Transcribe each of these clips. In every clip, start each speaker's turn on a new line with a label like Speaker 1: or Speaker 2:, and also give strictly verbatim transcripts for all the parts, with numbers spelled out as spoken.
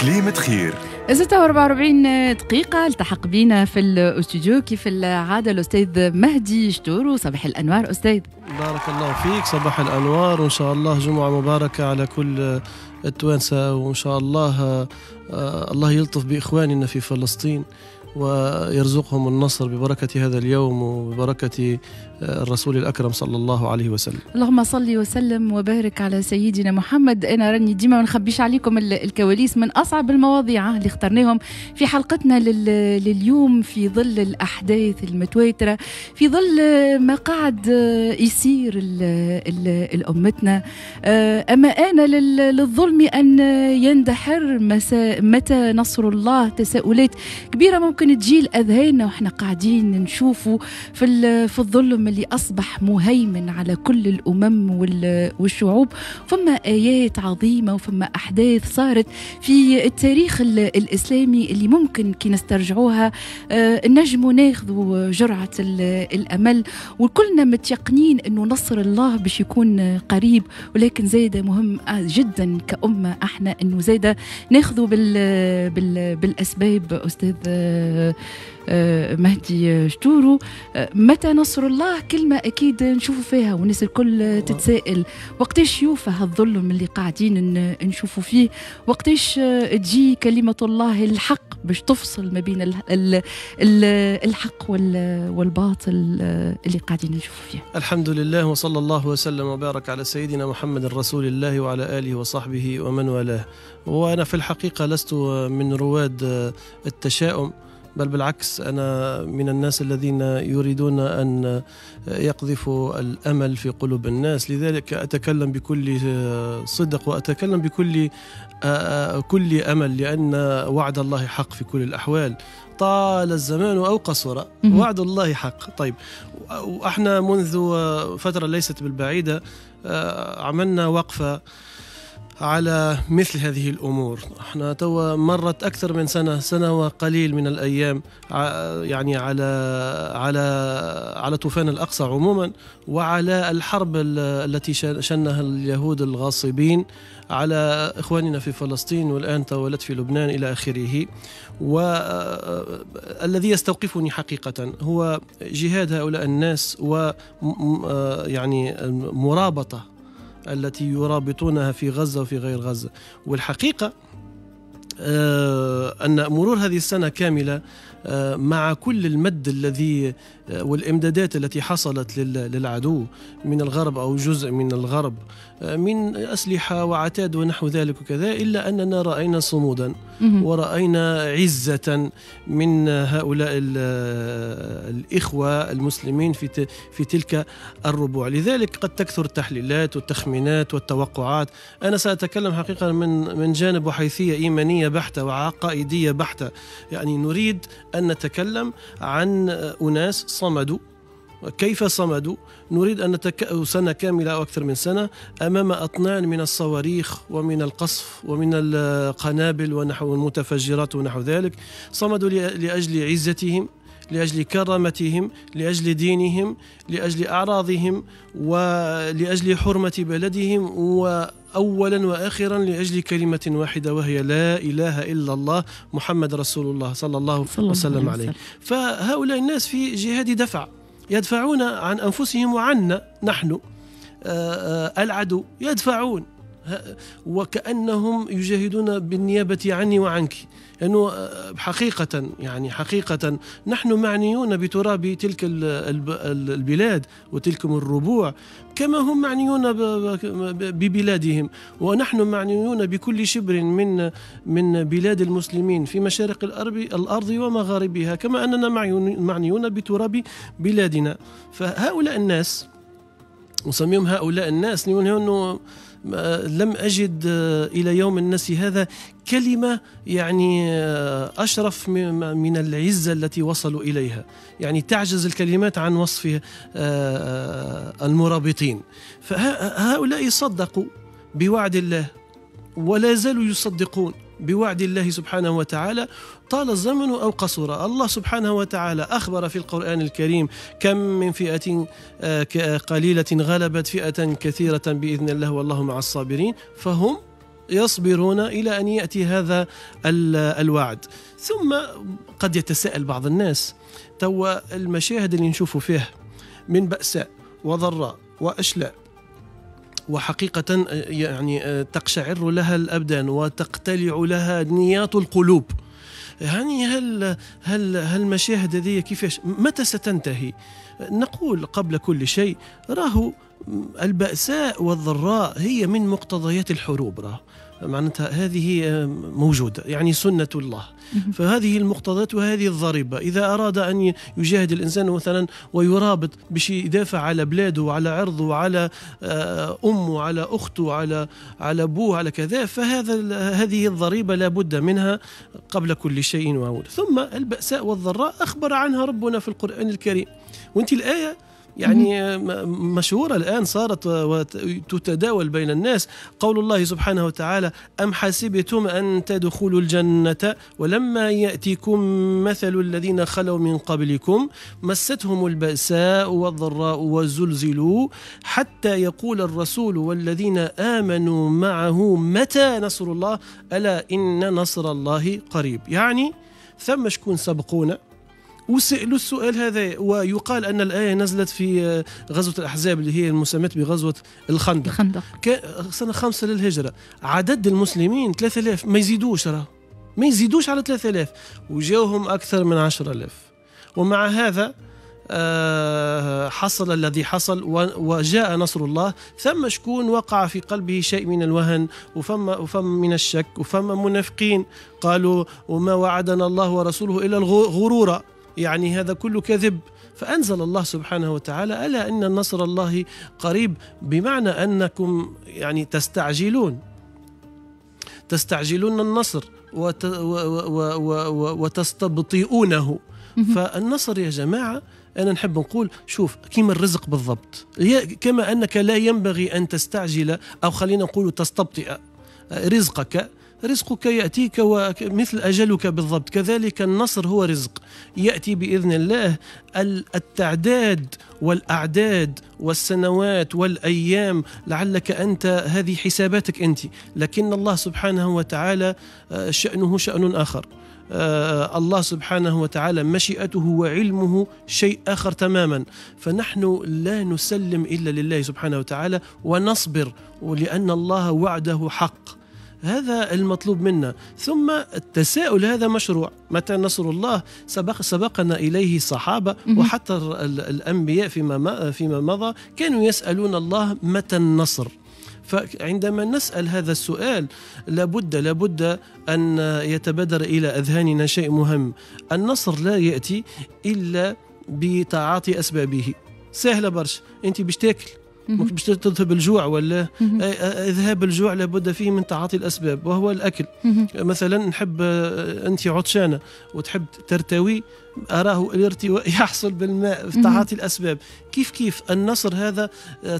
Speaker 1: كليمة خير.
Speaker 2: ستة وأربعة وأربعين دقيقة. التحق بينا في الاستوديو كيف العادة الأستاذ مهدي شتورو. صباح الأنوار أستاذ.
Speaker 3: بارك الله فيك، صباح الأنوار، وإن شاء الله جمعة مباركة على كل التوانسة، وإن شاء الله الله يلطف بإخواننا في فلسطين ويرزقهم النصر ببركة هذا اليوم وببركة الرسول الأكرم صلى الله عليه وسلم.
Speaker 2: اللهم صل وسلم وبارك على سيدنا محمد. أنا راني ديما ما نخبيش عليكم الكواليس، من أصعب المواضيع اللي اخترناهم في حلقتنا لليوم في ظل الأحداث المتواترة، في ظل ما قاعد يصير لأمتنا. أما أنا للظلم أن يندحر، متى نصر الله؟ تساؤلات كبيرة ممكن تجي لأذهاننا وإحنا قاعدين نشوفوا في في الظلم اللي أصبح مهيمن على كل الأمم والشعوب. فما آيات عظيمة وفما أحداث صارت في التاريخ الإسلامي اللي ممكن كي نسترجعوها نجموا ناخذوا جرعة الأمل، وكلنا متيقنين أنه نصر الله باش يكون قريب. ولكن زايدة مهم جدا كأمة احنا أنه زايدة ناخذوا بال بال بالأسباب. أستاذ مهدي شتورو، متى نصر الله؟ كلمة أكيد نشوفوا فيها والناس الكل تتسائل وقتاش يوفى هالظلم اللي قاعدين نشوفوا فيه، وقتاش تجي كلمة الله الحق باش تفصل ما بين الحق والباطل اللي قاعدين نشوفوا فيه.
Speaker 3: الحمد لله وصلى الله وسلم وبارك على سيدنا محمد رسول الله وعلى آله وصحبه ومن والاه. وأنا في الحقيقة لست من رواد التشاؤم، بل بالعكس أنا من الناس الذين يريدون أن يقذفوا الأمل في قلوب الناس، لذلك أتكلم بكل صدق وأتكلم بكل كل أمل، لأن وعد الله حق في كل الأحوال، طال الزمان أو قصر وعد الله حق. طيب، وإحنا منذ فترة ليست بالبعيدة عملنا وقفة على مثل هذه الأمور. احنا توا مرت أكثر من سنة، سنة وقليل من الأيام، يعني على على على طوفان الأقصى عموما، وعلى الحرب التي شنها اليهود الغاصبين على إخواننا في فلسطين، والآن تولت في لبنان إلى آخره. والذي يستوقفني حقيقة هو جهاد هؤلاء الناس، و يعني المرابطة التي يرابطونها في غزة وفي غير غزة. والحقيقة أن مرور هذه السنة كاملة مع كل المد الذي والإمدادات التي حصلت للعدو من الغرب أو جزء من الغرب من أسلحة وعتاد ونحو ذلك وكذا، إلا أننا رأينا صمودا ورأينا عزة من هؤلاء الإخوة المسلمين في في تلك الربوع. لذلك قد تكثر التحليلات والتخمينات والتوقعات. أنا سأتكلم حقيقة من من جانب وحيثية إيمانية بحتة وعقائدية بحتة، يعني نريد أن نتكلم عن أناس صمدوا. كيف صمدوا؟ نريد أن نتك... سنة كاملة أو أكثر من سنة أمام أطنان من الصواريخ ومن القصف ومن القنابل ونحو المتفجرات ونحو ذلك. صمدوا لأجل عزتهم، لأجل كرامتهم، لأجل دينهم، لأجل أعراضهم، ولأجل حرمة بلدهم، وأولا وآخرا لأجل كلمة واحدة وهي لا إله إلا الله محمد رسول الله صلى الله وسلم عليه. فهؤلاء الناس في جهاد دفع، يدفعون عن أنفسهم وعنا نحن العدو، يدفعون وكأنهم يجاهدون بالنيابة عني وعنك، لأنه حقيقة يعني حقيقة نحن معنيون بتراب تلك البلاد وتلكم الربوع كما هم معنيون ببلادهم، ونحن معنيون بكل شبر من من بلاد المسلمين في مشارق الأرض ومغاربها، كما أننا معنيون بتراب بلادنا. فهؤلاء الناس نسميهم هؤلاء الناس لأنه لم أجد إلى يوم الناس هذا كلمة يعني أشرف من العزة التي وصلوا إليها، يعني تعجز الكلمات عن وصف المرابطين. فهؤلاء صدقوا بوعد الله ولا زالوا يصدقون بوعد الله سبحانه وتعالى طال الزمن أو قصر. الله سبحانه وتعالى أخبر في القرآن الكريم كم من فئة قليلة غلبت فئة كثيرة بإذن الله والله مع الصابرين. فهم يصبرون إلى أن يأتي هذا الوعد. ثم قد يتساءل بعض الناس، توا المشاهد اللي نشوفوا فيها من بأساء وضراء وأشلاء، وحقيقة يعني تقشعر لها الأبدان وتقتلع لها نياط القلوب، يعني هل هل هالمشاهد هذه كيفاش متى ستنتهي؟ نقول قبل كل شيء راهو البأساء والضراء هي من مقتضيات الحروب، راه معناتها هذه موجودة، يعني سنة الله. فهذه المقتضيات وهذه الضريبة، إذا أراد أن يجاهد الإنسان مثلا ويرابط باش يدافع على بلاده وعلى عرضه وعلى أمه وعلى أخته وعلى على أبوه على كذا، فهذا هذه الضريبة لا بد منها قبل كل شيء. وأول ثم البأساء والضراء أخبر عنها ربنا في القرآن الكريم، وانت الآية يعني مشهورة الآن صارت وتتداول بين الناس، قول الله سبحانه وتعالى: أم حسبتم أن تدخلوا الجنة ولما يأتيكم مثل الذين خلوا من قبلكم مستهم البأساء والضراء وزلزلوا حتى يقول الرسول والذين آمنوا معه متى نصر الله ألا إن نصر الله قريب. يعني ثم شكون سبقونا وسألوا السؤال هذا، ويقال أن الآية نزلت في غزوة الأحزاب اللي هي المسماة بغزوة الخندق،
Speaker 2: الخندق.
Speaker 3: سنة خمسة للهجرة، عدد المسلمين ثلاثة آلاف، ما يزيدوش، راه ما يزيدوش على ثلاثة آلاف، وجاوهم أكثر من عشرة آلاف، ومع هذا حصل الذي حصل وجاء نصر الله. ثم شكون وقع في قلبه شيء من الوهن وفما وفما من الشك، وفما منافقين قالوا وما وعدنا الله ورسوله إلا الغرور، يعني هذا كله كذب. فأنزل الله سبحانه وتعالى: ألا إن نصر الله قريب، بمعنى أنكم يعني تستعجلون تستعجلون النصر وت وتستبطئونه. فالنصر يا جماعة أنا نحب نقول شوف كيما الرزق بالضبط، كما أنك لا ينبغي أن تستعجل أو خلينا نقول تستبطئ رزقك، رزقك يأتيك ومثل أجلك بالضبط، كذلك النصر هو رزق يأتي بإذن الله. التعداد والأعداد والسنوات والأيام لعلك أنت هذه حساباتك أنت، لكن الله سبحانه وتعالى شأنه شأن آخر. الله سبحانه وتعالى مشيئته وعلمه شيء آخر تماما، فنحن لا نسلم إلا لله سبحانه وتعالى ونصبر، ولأن الله وعده حق، هذا المطلوب منا. ثم التساؤل هذا مشروع، متى نصر الله؟ سبق سبقنا إليه الصحابة وحتى الأنبياء فيما فيما مضى كانوا يسألون الله متى النصر. فعندما نسأل هذا السؤال لابد لابد أن يتبادر إلى أذهاننا شيء مهم: النصر لا يأتي إلا بتعاطي أسبابه. سهلة برشا، أنت باش تاكل باش تذهب الجوع ولا اذهاب الجوع لابد فيه من تعاطي الاسباب وهو الاكل. مثلا نحب انت عطشانة وتحب ترتوي، اراه الارتواء يحصل بالماء في تعاطي الاسباب. كيف كيف النصر هذا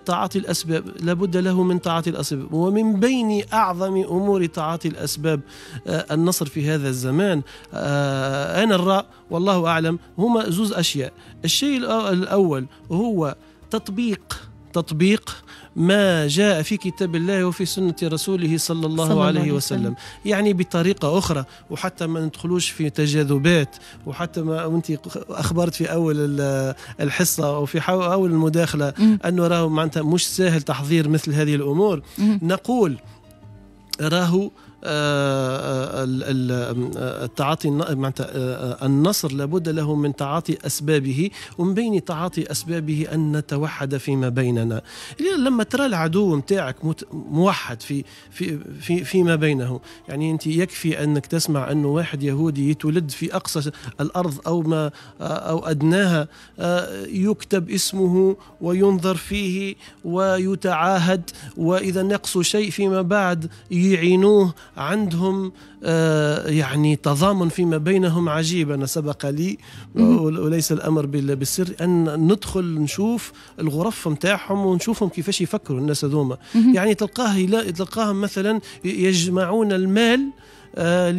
Speaker 3: تعاطي الاسباب، لابد له من تعاطي الاسباب، ومن بين اعظم امور تعاطي الاسباب النصر في هذا الزمان انا الراء والله اعلم هما زوز اشياء. الشيء الاول هو تطبيق تطبيق ما جاء في كتاب الله وفي سنة رسوله صلى الله, صلى الله عليه وسلم. وسلم، يعني بطريقة أخرى، وحتى ما ندخلوش في تجاذبات، وحتى ما أنت أخبرت في أول الحصة أو في أول المداخلة أنه راهو معناتها مش سهل تحضير مثل هذه الأمور. م. نقول راهو التعاطي معناتها النصر لابد له من تعاطي أسبابه، ومن بين تعاطي أسبابه أن نتوحد فيما بيننا. لما ترى العدو متاعك موحد في في في فيما بينه، يعني أنت يكفي أنك تسمع أنه واحد يهودي يتولد في أقصى الأرض أو ما أو أدناها، يكتب اسمه وينظر فيه ويتعاهد، وإذا نقصوا شيء فيما بعد يعينوه. عندهم آه يعني تضامن فيما بينهم عجيب. أنا سبق لي وليس الأمر بالسر أن ندخل نشوف الغرف متاعهم ونشوفهم كيفاش يفكروا الناس هذوما. يعني تلقاه تلقاهم مثلا يجمعون المال آه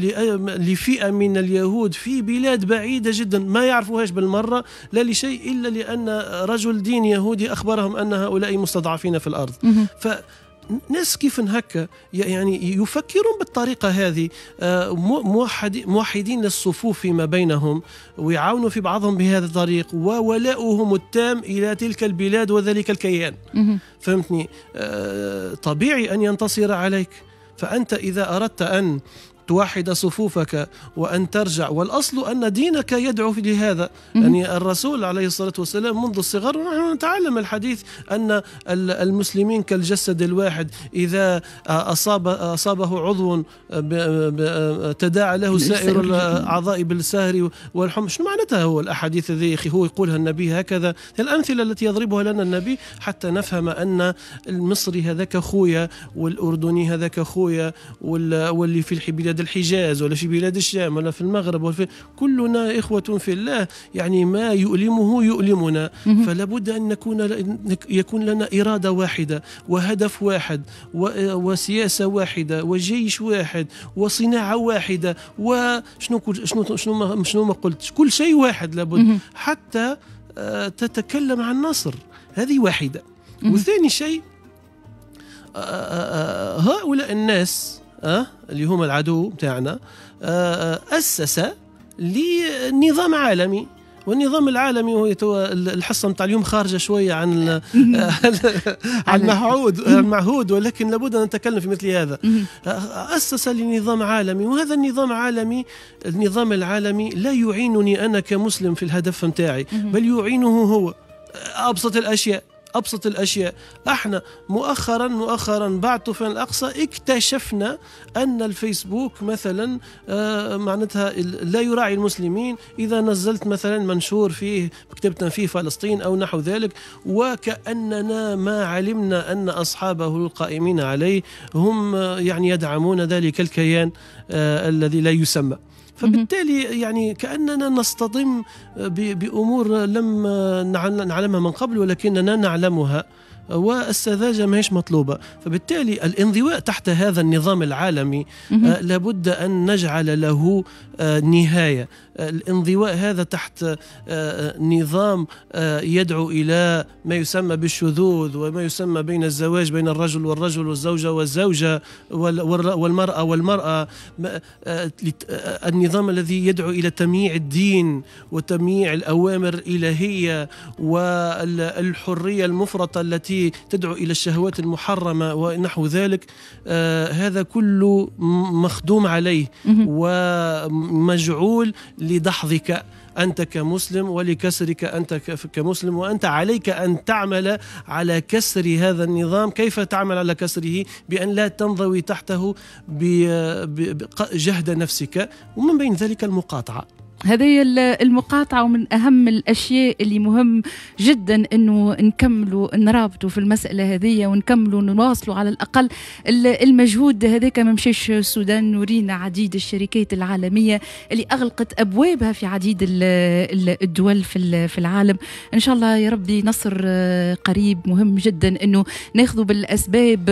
Speaker 3: لفئة من اليهود في بلاد بعيدة جدا ما يعرفوهاش بالمرة، لا لشيء إلا لأن رجل دين يهودي أخبرهم أن هؤلاء مستضعفين في الأرض. ف ناس كيف هكا يعني يفكرون بالطريقة هذه، موحدين للصفوف فيما بينهم ويعاونوا في بعضهم بهذا الطريق، وولاؤهم التام إلى تلك البلاد وذلك الكيان. فهمتني؟ طبيعي أن ينتصر عليك. فأنت إذا أردت أن توحد صفوفك وأن ترجع، والأصل أن دينك يدعو لهذا. يعني الرسول عليه الصلاة والسلام منذ الصغر ونحن نتعلم الحديث أن المسلمين كالجسد الواحد، إذا أصاب أصابه عضو تداعى له سائر الأعضاء بالسهر والحمى. شنو معناتها هو الأحاديث ذي هو يقولها النبي هكذا؟ الأمثلة التي يضربها لنا النبي حتى نفهم أن المصري هذاك خويا، والأردني هذاك خويا، واللي في بلاد الحجاز ولا في بلاد الشام ولا في المغرب ولا في، كلنا إخوة في الله، يعني ما يؤلمه يؤلمنا. فلا بد أن نكون يكون لنا إرادة واحدة وهدف واحد وسياسة واحدة وجيش واحد وصناعة واحدة وشنو شنو شنو ما شنو ما قلت، كل شيء واحد لابد حتى تتكلم عن نصر. هذه واحدة. وثاني شيء، هؤلاء الناس أه؟ اللي هم العدو بتاعنا أسس لنظام عالمي، والنظام العالمي هو الحصة نتاع اليوم خارجة شوية عن عن المعهود المعهود، ولكن لابد أن نتكلم في مثل هذا. أسس لنظام عالمي، وهذا النظام العالمي النظام العالمي لا يعينني أنا كمسلم في الهدف نتاعي، بل يعينه هو. أبسط الأشياء أبسط الأشياء، احنا مؤخرا مؤخرا بعد طوفان الأقصى اكتشفنا أن الفيسبوك مثلا آه معناتها لا يراعي المسلمين. إذا نزلت مثلا منشور فيه كتبت فيه فلسطين أو نحو ذلك، وكأننا ما علمنا أن أصحابه القائمين عليه هم يعني يدعمون ذلك الكيان آه الذي لا يسمى. فبالتالي يعني كأننا نصطدم بأمور لم نعلمها من قبل ولكننا نعلمها، والسذاجة ما هيش مطلوبة. فبالتالي الانضواء تحت هذا النظام العالمي لابد أن نجعل له نهاية. الانضواء هذا تحت نظام يدعو إلى ما يسمى بالشذوذ، وما يسمى بين الزواج بين الرجل والرجل والزوجة والزوجة والمرأة والمرأة، النظام الذي يدعو إلى تمييع الدين وتمييع الأوامر الإلهية والحرية المفرطة التي تدعو إلى الشهوات المحرمة ونحو ذلك. آه هذا كله مخدوم عليه ومجعول لدحضك أنت كمسلم ولكسرك أنت كمسلم، وأنت عليك أن تعمل على كسر هذا النظام. كيف تعمل على كسره؟ بأن لا تنضوي تحته بجهد نفسك، ومن بين ذلك المقاطعة.
Speaker 2: هذه المقاطعة ومن أهم الأشياء اللي مهم جدا أنه نكملوا نرابطوا في المسألة هذه ونكملوا نواصلوا على الأقل المجهود هذاك. ما مشاش السودان، ورينا عديد الشركات العالمية اللي أغلقت أبوابها في عديد الدول في العالم. إن شاء الله يا ربي نصر قريب. مهم جدا أنه ناخذ بالأسباب.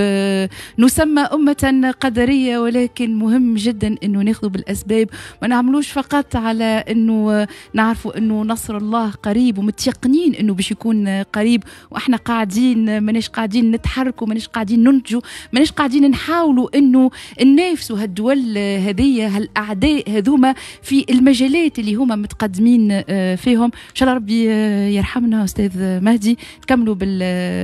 Speaker 2: نسمى أمة قدرية، ولكن مهم جدا أنه ناخذ بالأسباب، ما نعملوش فقط على انه نعرفوا انه نصر الله قريب ومتيقنين انه باش يكون قريب، واحنا قاعدين ماناش قاعدين نتحركوا، ماناش قاعدين ننتجوا، ماناش قاعدين نحاولوا انه ننافسوا هالدول هذية، هالاعداء هذوما في المجالات اللي هما متقدمين فيهم. ان شاء الله ربي يرحمنا استاذ مهدي. نكملوا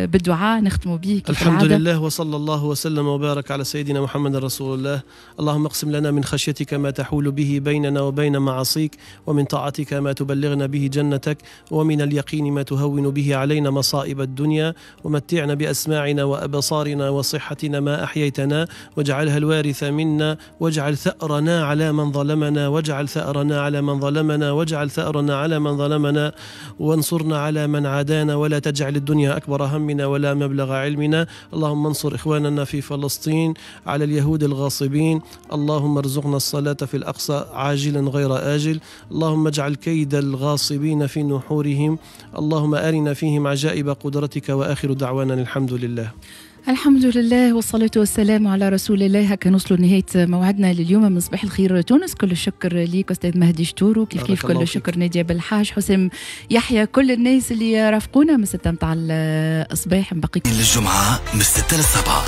Speaker 2: بالدعاء نختموا به.
Speaker 3: الحمد لله وصلى الله وسلم وبارك على سيدنا محمد رسول الله. اللهم اقسم لنا من خشيتك ما تحول به بيننا وبين معاصيك، ومن طاعتك ما تبلغنا به جنتك، ومن اليقين ما تهون به علينا مصائب الدنيا، ومتعنا بأسماعنا وأبصارنا وصحتنا ما أحييتنا، واجعلها الوارث منا، واجعل ثأرنا على من ظلمنا، واجعل ثأرنا على من ظلمنا، واجعل ثأرنا على من ظلمنا، وانصرنا على من عادانا، ولا تجعل الدنيا أكبر همنا ولا مبلغ علمنا. اللهم انصر إخواننا في فلسطين على اليهود الغاصبين. اللهم ارزقنا الصلاة في الأقصى عاجلا غير آجل. اللهم اجعل كيد الغاصبين في نحورهم. اللهم أرنا فيهم عجائب قدرتك. وآخر دعوانا الحمد لله.
Speaker 2: الحمد لله والصلاة والسلام على رسول الله. هكا نوصلوا لنهاية موعدنا لليوم من صباح الخير تونس. كل الشكر ليك أستاذ مهدي شتورو، كيف كيف كل الشكر نادية بالحاج، حسام يحيى، كل الناس اللي رافقونا من ستة متاع الصباح. نبقيكم
Speaker 1: للجمعة من ستة للسبعة.